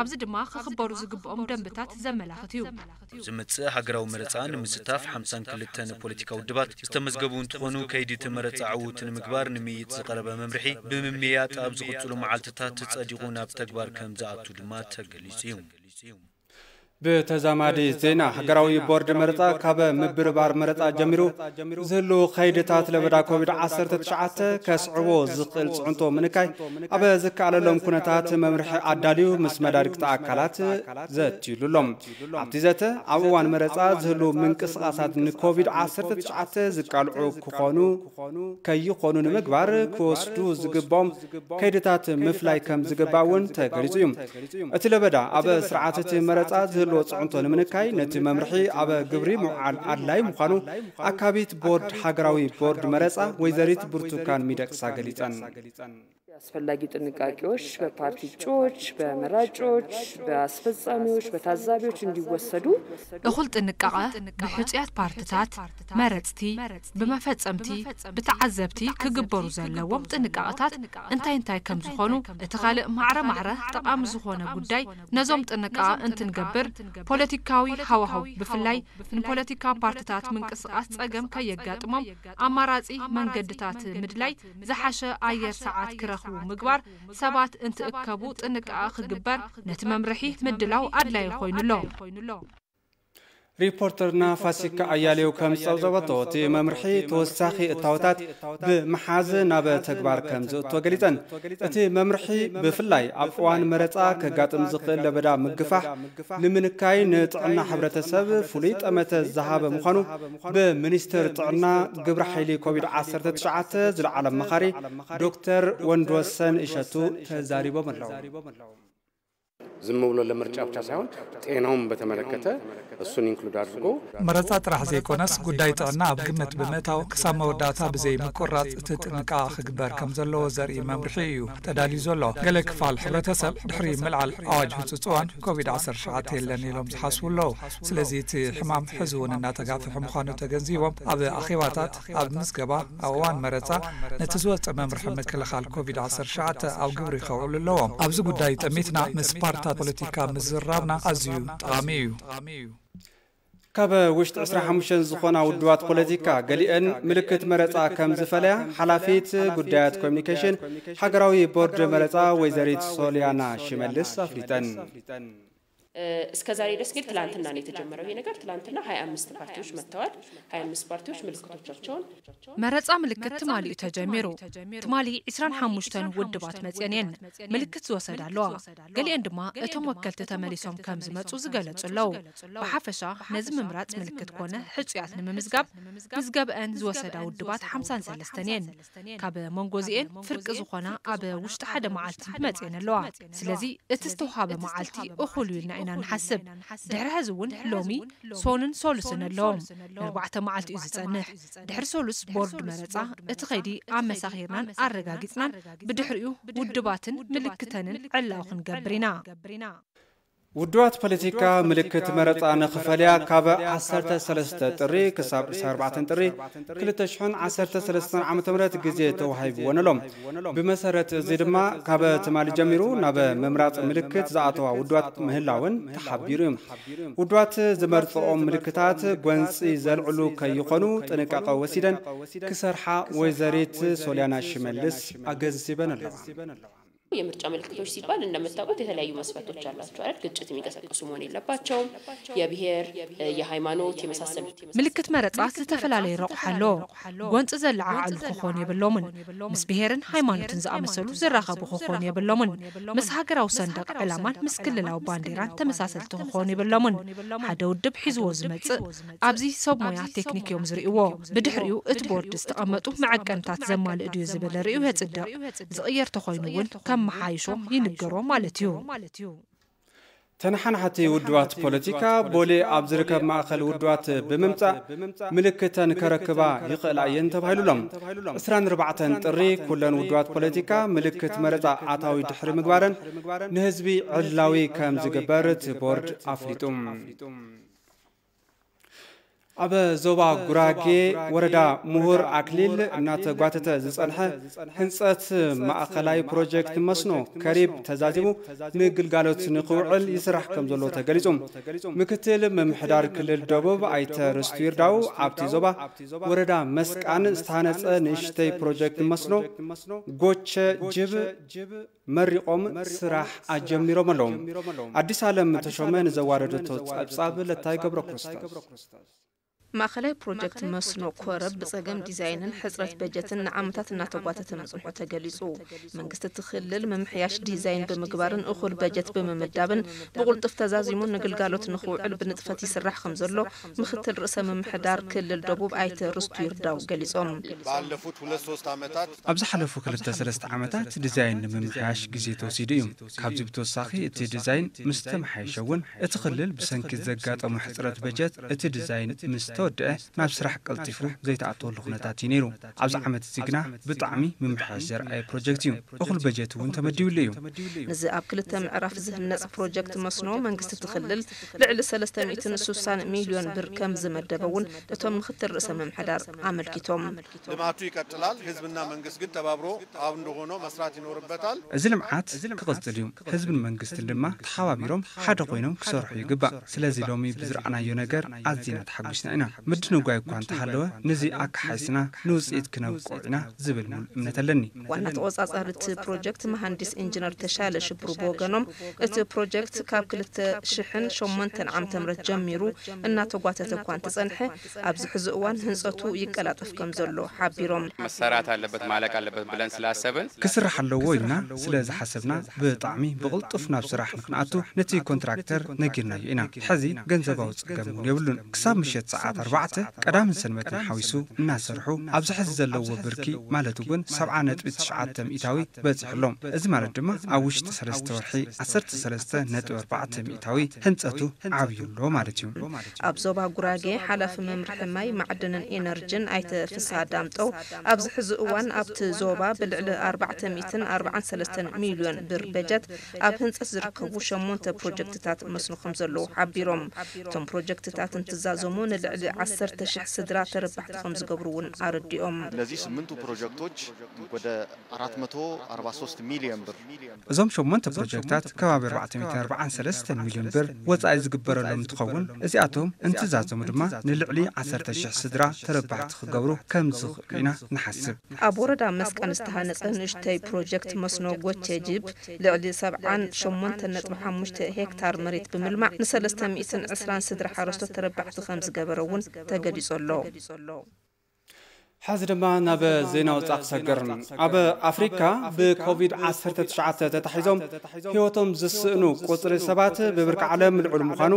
ኣብዚ ድማ ክኽበሩ ዝግብኦም ደንብታት ዘመላኽት እዩ። ኣብ ዝመጽእ ሃገራዊ መረጻ ንምስታፍ ሓምሳን ክልተን ፖለቲካ ውድባት ዝተመዝገቡ እንትኾኑ ከይዲ እቲ መረጻ ዕዉት ንምግባር ንምይይጥ ዝቐረበ መምርሒ ብምምያጥ ኣብ ዝቕጽሉ መዓልትታት ጸዲቑ ናብ ተግባር ከም ዝኣቱ ድማ ተገሊጹ እዩ። ብተዛማዲ ዜና ሃገራዊ ቦርድ መረጻ ካብ ምብርባር መረጻ ጀሚሩ ዝህሉ ከይድታት ለበዳ ኮቪድ ዓሰርተ ትሽዓተ ከስዕቦ ዝኽእል ጽዕንቶ ምንካይ ኣብ ዝከኣለሎም ኩነታት መምርሒ ኣዳልዩ ምስ መዳርግቲ ኣካላት ዘትዩሉ ኣሎ። ኣብቲ ዘተ ኣብ እዋን መረጻ ዝህሉ ምንቅስቓሳት ንኮቪድ ዓሰርተ ትሽዓተ ዝቃልዑ ክኾኑ ከይኾኑ ንምግባር ክወስዱ ዝግብኦም ከይድታት ምፍላይ ከም ዝግባእ እውን ተገሊጹ እዩ። እቲ ለበዳ ኣብ ስርዓት እቲ መረጻ ዝህልዎ ጽዕንቶ ንምንካይ ነቲ መምርሒ ኣብ ግብሪ ምውዓል ኣድላይ ምዃኑ ኣካቢት ቦርድ ሃገራዊ ቦርድ መረጻ ወይዘሪት ብርቱካን ሚደቅሳ ገሊጸን። አስፈላጊ ጥንቃቄዎች በፓርቲ እጩዎች፣ በመራጮች፣ በአስፈጻሚዎች፣ በታዛቢዎች እንዲወሰዱ። እኹል ጥንቃቐ ብሕጹያት ፓርትታት፣ መረጽቲ፣ ብመፈጸምቲ፣ ብተዓዘብቲ ክግበሩ ዘለዎም ጥንቃቐታት እንታይ እንታይ ከም ዝኾኑ፣ እቲ ካልእ ማዕረ ማዕረ ጠቓሚ ዝኾነ ጉዳይ ነዞም ጥንቃቐ እንትንገብር ፖለቲካዊ ሃዋህው ብፍላይ ንፖለቲካ ፓርትታት ምንቅስቓስ ጸገም ከየጋጥሞም ኣማራጺ መንገድታት ምድላይ ዝሓሸ ኣየር ሰዓት ክረኽቡ ምግባር ሰባት እንትእከቡ ጥንቃቐ ክግበር ነቲ መምርሒ ምድላው ኣድላዪ ኮይኑ ኣሎ። ሪፖርተርና ፋሲካ ኣያሌው ከም ዝጸብጸበቶ እቲ መምርሒ ተወሳኺ እታወታት ብምሓዝ ናብ ተግባር ከም ዝእቶ ገሊጸን። እቲ መምርሒ ብፍላይ ኣብ እዋን መረጻ ከጋጥም ዝኽእል ለበዳ ምግፋሕ ንምንካይ ንጥዕና ሕብረተሰብ ፍሉይ ጠመተ ዝሃበ ምዃኑ ብሚኒስትር ጥዕና ግብረ ሓይሊ ኮቪድ ዓሰርተ ትሽዓተ ዝለዓለ ኣማኻሪ ዶክተር ወንድወሰን እሸቱ ተዛሪቦም ኣለዉ። ዝም ብሎ ለምርጫ ብቻ ሳይሆን ጤናውን በተመለከተ እሱን ኢንክሉድ አድርጎ መረፃ ጥራሕ ዘይኮነስ ጉዳይ ጥዕና ኣብ ግምት ብምእታው ክሳብ መወዳእታ ብዘይ ምቁራፅ እቲ ጥንቃቐ ክግበር ከም ዘለዎ ዘርኢ መምርሒ እዩ ተዳልዩ ዘሎ። ገለ ክፋል ሕብረተሰብ ድሕሪ ምልዓል ኣዋጅ ህፁፅ እዋን ኮቪድ ዓሰርተ ትሽዓተ የለን ኢሎም ዝሓስቡ ኣለዉ። ስለዚ እቲ ሕማም ሕዚ እውን እናተጋፍሐ ምዃኑ ተገንዚቦም ኣብ ኣኼባታት ኣብ ምዝገባ ኣብ እዋን መረፃ ነቲ ዝወፀ መምርሒ ምክልኻል ኮቪድ ዓሰርተ ትሽዓተ ኣብ ግብሪ ከውዕሉ ኣለዎም። ኣብዚ ጉዳይ ጠሚትና ምስ ፓርትታት ፖለቲካ ምዝራብና ኣዝዩ ጠቓሚ እዩ። ካብ ውሽጢ ዕስራን ሓሙሽተን ዝኾና ውድባት ፖለቲካ ገሊአን ምልክት መረፃ ከም ዝፈለያ ሓላፊት ጉዳያት ኮሚኒኬሽን ሃገራዊ ቦርድ መረፃ ወይዘሪት ሶልያና ሽመልስ ኣፍሊጠን። እስከ ዛሬ ድረስ ግን ትላንትና ነው የተጀመረው ይሄ ነገር። ትላንትና ሃያ አምስት ፓርቲዎች መጥተዋል። ሃያ አምስት ፓርቲዎች ምልክቶቻቸውን መረጻ ምልክት ትማሊኡ ተጀሚሩ። ትማሊ ዕስራን ሓሙሽተን ውድባት መጽየን እየን ምልክት ዝወሰዳ ኣለዋ። ገሊአን ድማ እቶም ወከልቲ ተመሊሶም ከም ዝመጹ ዝገለጹ ኣለዉ። ብሓፈሻ ነዚ ምምራጽ ምልክት ኮነ ሕጹያት ንምምዝጋብ ምዝገብአን ዝወሰዳ ውድባት ሓምሳን ሰለስተን እየን። ካብ መንጎ እዚኤን ፍርቂ ዝኾና ኣብ ውሽጢ ሓደ መዓልቲ መጽየን ኣለዋ። ስለዚ እቲ ዝተውሃበ መዓልቲ እኹል እዩ ኢልና ኢና ንሓስብ። ድሕሪ ሕዚ እውን ሎሚ ሶንን ሶሉስን ኣለዎም። ንኣርባዕተ መዓልቲ እዩ ዝጸንሕ። ድሕሪ ሶሉስ ቦርድ መረጻ እቲ ኸይዲ ኣመሳኺርናን ኣረጋጊጽናን ብድሕሪኡ ውድባትን ምልክተንን ዕላዊ ክንገብር ኢና። ውድባት ፖለቲካ ምልክት መረፃ ንኽፈልያ ካብ ዓሰርተ ሰለስተ ጥሪ ክሳብ ዕስራን ኣርባዕተን ጥሪ ክልተ ሽሕን ዓሰርተ ሰለስተን ዓመተ ምህረት ግዜ ተዋሂብወን ኣሎ። ብመሰረት እዚ ድማ ካብ ትማሊ ጀሚሩ ናብ ምምራፅ ምልክት ዝኣተዋ ውድባት ምህላወን ተሓቢሩ እዩ። ውድባት ዝመርፅኦም ምልክታት ጎንፂ ዘልዕሉ ከይኾኑ ጥንቃቐ ወሲደን ክሰርሓ ወይዘሪት ሶልያና ሽመልስ ኣገንዚበን ኣለዋ። የምርጫ ምልክቶች ሲባል እንደምታውቁት የተለያዩ መስፈርቶች አላቸው አይደል? ግጭት የሚቀሰቅሱ መሆን የለባቸውም። የብሔር፣ የሃይማኖት የመሳሰሉት። ምልክት መረጻ ዝተፈላለየ ረቑሓ ኣለዎ። ጎንጺ ዘለዓዕሉ ክኾኑ የብሎምን። ምስ ብሔርን ሃይማኖትን ዝኣመሰሉ ዝራኸቡ ክኾኑ የብሎምን። ምስ ሃገራዊ ሰንደቕ ዕላማን ምስ ክልላዊ ባንዴራን ተመሳሰልቲ ክኾኑ የብሎምን። ሓደ ውድብ ሒዝዎ ዝመጽእ ኣብዚ ሰብ ሞያ ቴክኒክ እዮም ዝርእይዎ። ብድሕሪኡ እቲ ቦርድ ዝተቐመጡ መዐቀንታት ዘማልእ ድዩ ዝብል ርእዩ የጽድቕ። ዝቕየር ተኾይኑ እውን ከመሓይሾ ይንገሮ ማለት እዩ። ተነሓናሕቲ ውድባት ፖለቲካ ቦሌ ኣብ ዝርከብ ማእኸል ውድባት ብምምፃእ ምልክተን ከረክባ ይኽእላ እየን ተባሂሉሎም። ዕስራን ኣርባዕተን ጥሪ ኩለን ውድባት ፖለቲካ ምልክት መረፃ ኣታዊ ድሕሪ ምግባረን ንህዝቢ ዕላዊ ከም ዝግበር እቲ ቦርድ ኣፍሊጡ። ኣብ ዞባ ጉራጌ ወረዳ ምሁር ኣክሊል እናተጓተተ ዝጸንሐ ህንጸት ማእኸላይ ፕሮጀክት መስኖ ከሪብ ተዛዚሙ ንግልጋሎት ንኽውዕል ይስራሕ ከም ዘሎ ተገሊጹ። ምክትል ምምሕዳር ክልል ደቡብ ኣይተ ርስቱ ይርዳው ኣብቲ ዞባ ወረዳ መስቃን ዝተሃነጸ ንእሽተይ ፕሮጀክት መስኖ ጎቸ ጅብ መሪቖም ስራሕ ኣጀሚሮም ኣለዉ። ኣዲስ ኣለም ተሾመ ንዘዋደደቶ ጸብጻብ ለታይ ገብረ ክርስቶስ። ማእኸላይ ፕሮጀክት መስኖ ኮረብ ብፀገም ዲዛይንን ሕፅረት በጀትን ንዓመታት እናተጓተተ ምፅንሑ ተገሊፁ። መንግስቲ እቲ ክልል ምምሕያሽ ዲዛይን ብምግባርን እኹል በጀት ብምምዳብን ብቑልጡፍ ተዛዚሙ ንግልጋሎት ንኽውዕል ብንጥፈት ይስራሕ ከም ዘሎ ምክትል ርእሰ ምምሕዳር ክልል ደቡብ ኣይተ ርስቱ ይርዳው ገሊፆም። ባለፉት ሁለት ሶስት ዓመታት ኣብ ዝሓለፉ ክልተ ሰለስተ ዓመታት ዲዛይን ንምምሕያሽ ግዜ ተወሲዱ እዩ። ካብዚ ብተወሳኺ እቲ ዲዛይን ምስ ተመሓየሸ እውን እቲ ክልል ብሰንኪ ዘጋጠሞ ሕፅረት በጀት እቲ ዲዛይን ምስ ዝተወደአ ናብ ስራሕ ቀልጢፉ ዘይተኣተወሉ ኩነታት እዩ ነይሩ። ኣብዚ ዓመት እዚ ግና ብጣዕሚ ምምሕያሽ ዘርኣየ ፕሮጀክት እዩ። እኹል በጀት እውን ተመዲብሉ እዩ። ነዚ ኣብ ክልተ ምዕራፍ ዝህነጽ ፕሮጀክት መስኖ መንግስቲ እቲ ክልል ልዕሊ ሰለስተ ሚእትን ስሳን ሚልዮን ብር ከም ዝመደበ እውን እቶም ምክትል ርእሰ ምምሕዳር ኣመልኪቶም። ልማቱ ይቀጥላል። ህዝብና መንግስት ግን ተባብሮ አንድ ሆኖ መስራት ይኖርበታል። እዚ ልምዓት ክቕጽል እዩ። ህዝብን መንግስትን ድማ ተሓባቢሮም ሓደ ኮይኖም ክሰርሑ ይግባእ። ስለዚ ሎሚ ብዝረኣናዮ ነገር ኣዚና ተሓጒስና ኢና። ምድንጓይ እኳ እንተሃለወ፣ ነዚ ኣካሓይስና ንውፅኢት ክነብቅዖ ኢና ዝብል ሙሉእ እምነት ኣለኒ። ዋና ተቖጻጻሪ እቲ ፕሮጀክት መሃንዲስ ኢንጂነር ተሻለ ሽብሩ ብወገኖም፣ እቲ ፕሮጀክት ካብ ክልተ ሽሕን ሸሞንተን ዓመተ ምህረት ጀሚሩ እናተጓተተ እኳ እንተጸንሐ፣ ኣብዚ ሕዚ እዋን ህንጸቱ ይቀላጠፍ ከም ዘሎ ሓቢሮም። መሰራት ኣለበት፣ ማለቅ ኣለበት ብለን ስላሰብን ክስራሕ ኣለዎ ኢልና ስለ ዝሓሰብና ብጣዕሚ ብቕልጡፍ ናብ ስራሕ ንክንኣቱ ነቲ ኮንትራክተር ነጊርናዮ ኢና። ሕዚ ገንዘባዊ ጸገም እውን የብሉን። ክሳብ ምሸት ሰዓት ኣርባዕተ ቀዳምን ሰንበትን ሓዊሱ እናሰርሑ ኣብዚ ሕዚ ዘለዎ ብርኪ ማለት እውን ሰብዓ ነጥቢ ትሽዓተ ሚእታዊ በጺሑ ኣሎ። እዚ ማለት ድማ ኣብ ውሽጢ ሰለስተ ወርሒ ዓሰርተ ሰለስተ ነጥቢ ኣርባዕተ ሚእታዊ ህንጸቱ ዓብዩ ኣሎ ማለት እዩ። ኣብ ዞባ ጉራጌ ሓላፊ መምርሒ ማይ፣ ማዕድንን ኤነርጅን ኣይተ ፍስሃ ዳምጠው፣ ኣብዚ ሕዚ እዋን ኣብቲ ዞባ ብልዕሊ ኣርባዕተ ሚእትን ኣርባዓን ሰለስተን ሚልዮን ብር በጀት ኣብ ህንፀት ዝርከቡ ሸሞንተ ፕሮጀክትታት መስኖ ከም ዘለዉ ሓቢሮም። እቶም ፕሮጀክትታት እንትዛዘሙ ንልዕሊ ዓሰርተ ሽሕ ስድራ ተረባሕቲ ከም ዝገብሩ እውን ኣረዲኦም። እነዚህ ስምንቱ ፕሮጀክቶች ወደ ኣራት መቶ ኣርባ ሶስት ሚልዮን ብር እዞም ሸሞንተ ፕሮጀክታት ከባቢ ኣርባዕተ ሚእትን ኣርባዓን ሰለስተን ሚልዮን ብር ወፃኢ ዝግበረሎም እንትኸውን፣ እዚኣቶም እንትዛዘሙ ድማ ንልዕሊ ዓሰርተ ሽሕ ስድራ ተረባሕቲ ክገብሩ ከም ዝኽእሉ ኢና ንሓስብ። ኣብ ወረዳ መስቃን ዝተሃነፀ ንእሽተይ ፕሮጀክት መስኖ ጎቼ ጅብ ልዕሊ ሰብዓን ሸሞንተን ነጥቢ ሓሙሽተ ሄክታር መሬት ብምልማዕ ንሰለስተ ሚእትን ዕስራን ስድራ ሓረስቶት ተረባሕቲ ከም ዝገበረ እውን ተገሊፁ ኣሎ። ሕዚ ድማ ናብ ዜና ወጻኢ ክሰግር። ኣብ ኣፍሪካ ብኮቪድ ዓሰርተ ትሽዓተ ተታሒዞም ህይወቶም ዝስእኑ ቁጽሪ ሰባት ብብርኪ ዓለም ልዑል ምዃኑ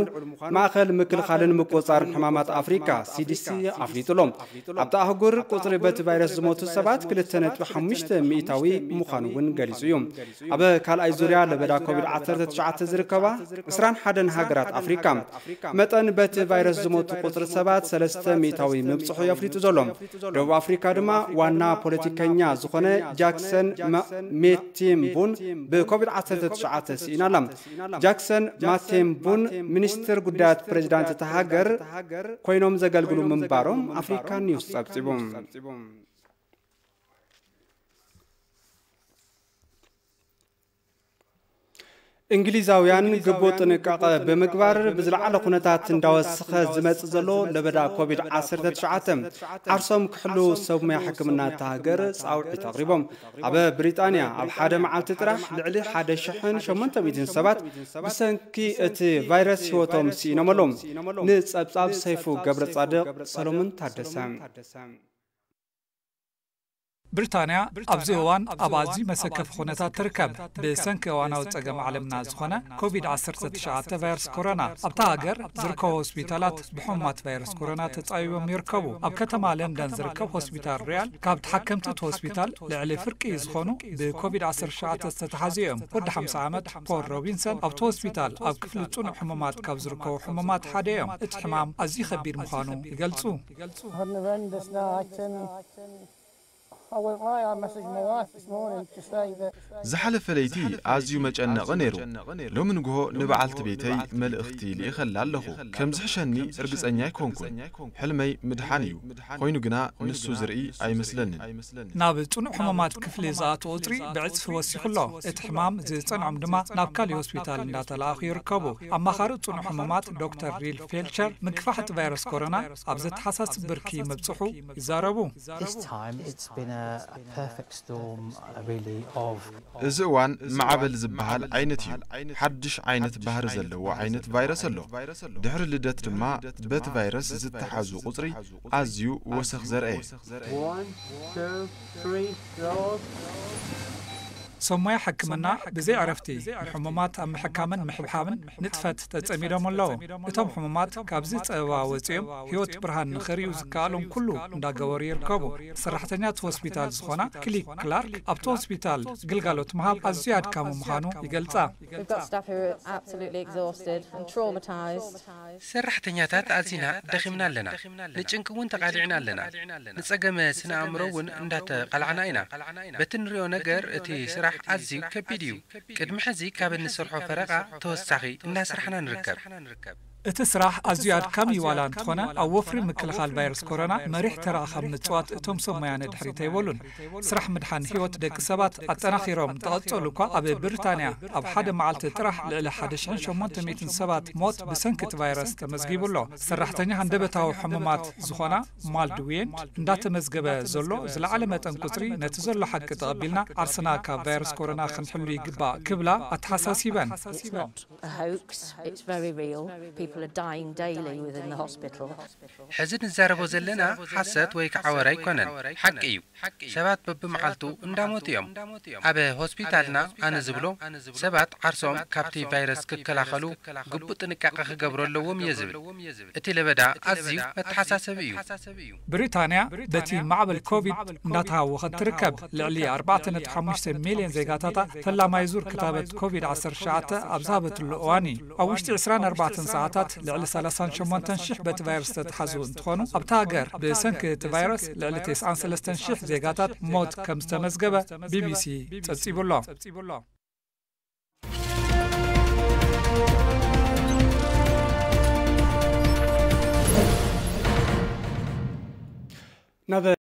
ማእኸል ምክልኻልን ምቁጽጻርን ሕማማት ኣፍሪካ ሲዲሲ ኣፍሊጡ ኣሎ። ኣብታ ኣህጉር ቁጽሪ በቲ ቫይረስ ዝሞቱ ሰባት ክልተ ነጥቢ ሓሙሽተ ሚእታዊ ምዃኑ እውን ገሊጹ እዩ። ኣብ ካልኣይ ዙርያ ለበዳ ኮቪድ ዓሰርተ ትሽዓተ ዝርከባ ዕስራን ሓደን ሃገራት ኣፍሪካ መጠን በቲ ቫይረስ ዝሞቱ ቁጽሪ ሰባት ሰለስተ ሚእታዊ ምብጽሑ የፍሊጡ ዘሎ። ደቡብ ኣፍሪካ ድማ ዋና ፖለቲከኛ ዝኾነ ጃክሰን መ- ሜቴምቡን ብኮቪድ ዓሰርተ ትሽዓተ ስኢና ኣላ። ጃክሰን ማቴምቡን ሚኒስትር ጉዳያት ፕሬዚዳንት እታ ሃገር ኮይኖም ዘገልግሉ ምንባሮም ኣፍሪካ ኒውስ ጸብጺቡ። እንግሊዛውያን ግቡእ ጥንቃቐ ብምግባር ብዝለዓለ ኩነታት እንዳወሰኸ ዝመጽእ ዘሎ ለበዳ ኮቪድ ዓሰርተ ትሽዓተ ዓርሶም ክሕልዉ ሰብ ሞያ ሕክምና እታ ሃገር ጻውዒት ኣቕሪቦም። ኣብ ብሪጣንያ ኣብ ሓደ መዓልቲ ጥራሕ ልዕሊ ሓደ ሽሕን ሸሞንተ ሚእትን ሰባት ብሰንኪ እቲ ቫይረስ ህይወቶም ስኢኖም ኣለዉ። ንጸብጻብ ሰይፉ ገብረጻድቕ ሰሎሞን ታደሰ። ብሪጣንያ ኣብዚ እዋን ኣብ ኣዝዩ መሰከፊ ኩነታት ትርከብ፣ ብሰንኪ እዋናዊ ጸገም ዓለምና ዝኾነ ኮቪድ ዓሰርተ ትሽዓተ ቫይረስ ኮሮና። ኣብታ ሃገር ዝርከቡ ሆስፒታላት ብሕሙማት ቫይረስ ኮሮና ተጻቢቦም ይርከቡ። ኣብ ከተማ ለንደን ዝርከብ ሆስፒታል ሪያል፣ ካብ ተሓከምቲ እቲ ሆስፒታል ልዕሊ ፍርቂ ዝኾኑ ብኮቪድ ዓሰርተ ትሽዓተ ዝተተሓዙ እዮም። ወዲ ሓምሳ ዓመት ፖል ሮቢንሰን ኣብቲ ሆስፒታል ኣብ ክፍሊ ጽኑዕ ሕሙማት ካብ ዝርከቡ ሕሙማት ሓደ እዮም። እቲ ሕማም ኣዝዩ ከቢድ ምዃኑ ይገልጹ። ዝሓለፈ ለይቲ ኣዝዩ መጨነቒ ነይሩ። ሎሚ ንግሆ ንበዓልቲ ቤተይ መልእኽቲ ልኢኸላ ኣለኹ። ከም ዝሕሸኒ ርግጸኛ ኣይኮንኩን። ሕልመይ ምድሓን እዩ። ኮይኑ ግና ንሱ ዝርኢ ኣይመስለንን። ናብ ጽኑዕ ሕሙማት ክፍሊ ዝኣትዉ ቁጽሪ ብዕጽፊ ወሲኹ ኣሎ። እቲ ሕማም ዝጸንዖም ድማ ናብ ካሊእ ሆስፒታል እንዳተለኣኹ ይርከቡ። ኣማኻሪ ጽኑዕ ሕሙማት ዶክተር ሪል ፌልቸር ምግፋሕ እቲ ቫይረስ ኮሮና ኣብ ዘተሓሳስብ ብርኪ ምብጽሑ ይዛረቡ። This time it's been a, a perfect storm, uh, really, of እዚ እዋን ማዕበል ዝበሃል ዓይነት እዩ። ሓድሽ ዓይነት ባህሪ ዘለዎ ዓይነት ቫይረስ ኣሎ። ድሕሪ ልደት ድማ በቲ ቫይረስ ዝተተሓዙ ቁጽሪ ኣዝዩ ወሰኽ ዘርኣየ። One, two, three, four. ሰብ ሞያ ሕክምና ብዘይ ዕረፍቲ ንሕሙማት ኣብ ምሕካምን ምሕብሓብን ንጥፈት ተጸሚዶም ኣለዉ። እቶም ሕሙማት ካብዚ ጸበባ ወጺኦም ህይወት ብርሃን ንኸርእዩ ዝከኣሎም ኩሉ እንዳገበሩ ይርከቡ። ሰራሕተኛት ሆስፒታል ዝኾና ክሊክ ክላርክ ኣብቲ ሆስፒታል ግልጋሎት ምሃብ ኣዝዩ ኣድካሚ ምዃኑ ይገልጻ። We've got staff who are absolutely exhausted and traumatised. ሰራሕተኛታት ኣዚና ደኺምና ኣለና። ንጭንቂ እውን ተቓሊዕና ኣለና። ንጸገመ ስነ ኣእምሮ እውን እንዳተቓላዕና ኢና። በቲ ንሪኦ ነገር እቲ ስራሕ ኣዝዩ ከቢድ እዩ። ቅድሚ ሕዚ ካብ እንሰርሖ ፈረቓ ተወሳኺ እናሰራሕና ንርከብ። እቲ ስራሕ ኣዝዩ ኣድካሚ ዋላ እንተኾነ ኣብ ወፍሪ ምክልኻል ቫይረስ ኮሮና መሪሕ ተራ ካብ ምጽዋት እቶም ሰብ ሞያ ንድሕሪት ኣይበሉን። ስራሕ ምድሓን ህይወት ደቂ ሰባት ኣጠናኺሮም እንተቐጸሉ እኳ ኣብ ብሪጣንያ ኣብ ሓደ መዓልቲ ጥራሕ ልዕሊ ሓደ ሽሕን ሸሞንተ ሚእትን ሰባት ሞት ብሰንኪ እቲ ቫይረስ ተመዝጊቡ ኣሎ። ሰራሕተኛ ሃንደበታዊ ሕሙማት ዝኾና ማልድ ዊየንድ እንዳተመዝገበ ዘሎ ዝለዓለ መጠን ቁጽሪ ነቲ ዘሎ ሓቂ ተቐቢልና ዓርስና ካብ ቫይረስ ኮሮና ክንሕሉ ይግባእ ክብላ ኣተሓሳሲበን። A hoax. It's very real. People are dying daily within the hospital. ሕዚ ንዛረቦ ዘለና ሓሰት ወይ ከዓ ወረ ኣይኮነን፣ ሓቂ እዩ። ሰባት በብመዓልቱ እንዳሞቱ እዮም። ኣብ ሆስፒታልና ኣነ ዝብሎ ሰባት ዓርሶም ካብቲ ቫይረስ ክከላኸሉ ግቡእ ጥንቃቐ ክገብሩ ኣለዎም እየ ዝብል። እቲ ለበዳ ኣዝዩ መተሓሳሰቢ እዩ። ብሪጣንያ በቲ ማዕበል ኮቪድ እንዳተሃወኸት ትርከብ። ልዕሊ ኣርባዕተ ነጥቢ ሓሙሽተ ሚልዮን ዜጋታታ ፈላማይ ዙር ክታበት ኮቪድ ዓሰርተ ትሽዓተ ኣብ ዝሃበትሉ እዋን እዩ። ኣብ ውሽጢ ዕስራን ኣርባዕተን ሰዓታት ልዕሊ ሰላሳን ሸሞንተን ሽሕ በቲ ቫይረስ ዝተትሓዙ እንትኾኑ ኣብታ ሃገር ብሰንኪ እቲ ቫይረስ ልዕሊ ተስዓን ሰለስተን ሽሕ ዜጋታት ሞት ከም ዝተመዝገበ ቢቢሲ ጸብጺቡ ኣሎ። ናብ